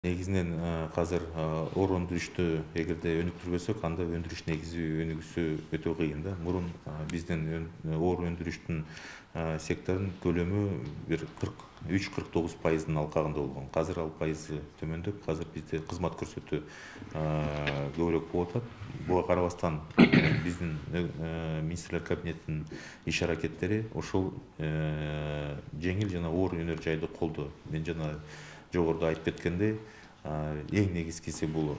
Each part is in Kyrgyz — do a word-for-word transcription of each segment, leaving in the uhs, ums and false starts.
Негизинен азыр оор өндүрүштү эгерде өнүктүрбөсөк, анда өндүрүш негизи өнүгүүсү өтө кыйын да. Мурун биздин оор өндүрүштүн секторунун көлөмү бир кырк үч кырк тогуз пайыздын алкагында болгон. Азыр ал пайызы төмөндөп, азыр бизде кызмат көрсөтүү көбүрөөк болуп атат. Буга карабастан биздин министрлер кабинетинин иш аракеттери ошол жеңил жана оор өнөр жайды колдоо. Мен жана жогоруда айтып кеткендей, эң негизгиси бул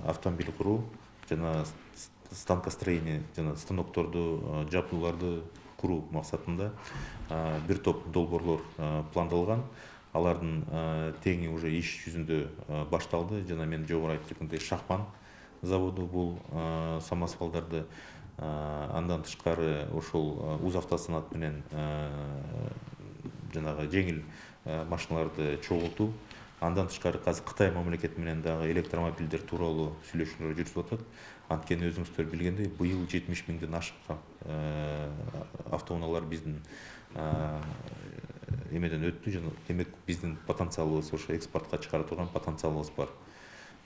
автомобиль куруу жана станкостроение жана станокторду, жабдууларды куруу максатында бир топ долбоорлор пландалган. Алардын теңи уже иш жүзүндө башталды. Жана мен жогору айтып кеткендей, Шахман заводу бул самосвалдарды, андан тышкары ошол Узавтосанат менен жанагы жеңил машиналарды чогултуу. Андан тышкары азыр Кытай мамлекети менен дагы электромобилдер тууралуу сүйлөшүүлөр жүрүп атат. Анткени өзүңүздөр билгендей, быйыл жетимиш миңден ашык автоунаалар биздин эмеден өттү. Жана демек биздин потенциалыбыз, ошо экспортко чыгара турган потенциалыбыз бар.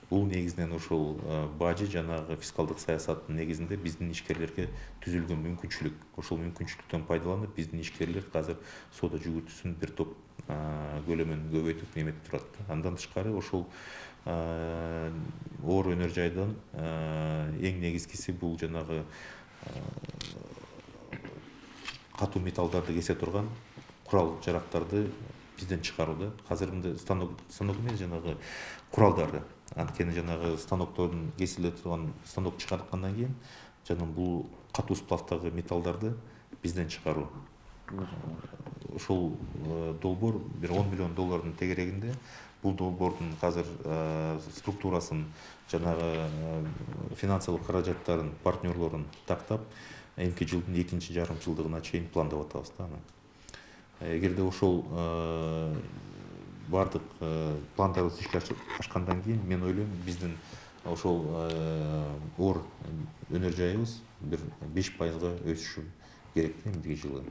Бул негизинен ошол бажы жанагы фискалдык саясаттын негизинде биздин ишкерлерге түзүлгөн мүмкүнчүлүк. Ошол мүмкүнчүлүктөн пайдаланып, биздин ишкерлер азыр соода жүгүртүүсүн бир топ көлөмүн көбөйтүп неметип турат. Андан тышкары ошол оор өнөр жайдан эң негизгиси бул жанагы катуу металлдарды кесе турган курал жарактарды бизден чыгарууда. Азыр мындай станок станок эмес, жанагы куралдарды. Анткени жанагы станоктордун кесиле турган станок чыгарткандан кийин жана бул катуу сплавдагы металлдарды бизден чыгаруу. Ошол долбоор бир он миллион доллардын тегерегинде. Бул долбоордун азыр структурасын, жанагы финансылык каражаттарын, партнерлорун тактап, эмки жылдын экинчи жарым жылдыгына чейин пландап атабыз да аны. Эгерде ошол бардык пландарыбыз ишке ашкандан кийин, мен ойлойм, биздин ошол оор өнөр жайыбыз бир беш пайызга өсүшү керек эмдиги жылы.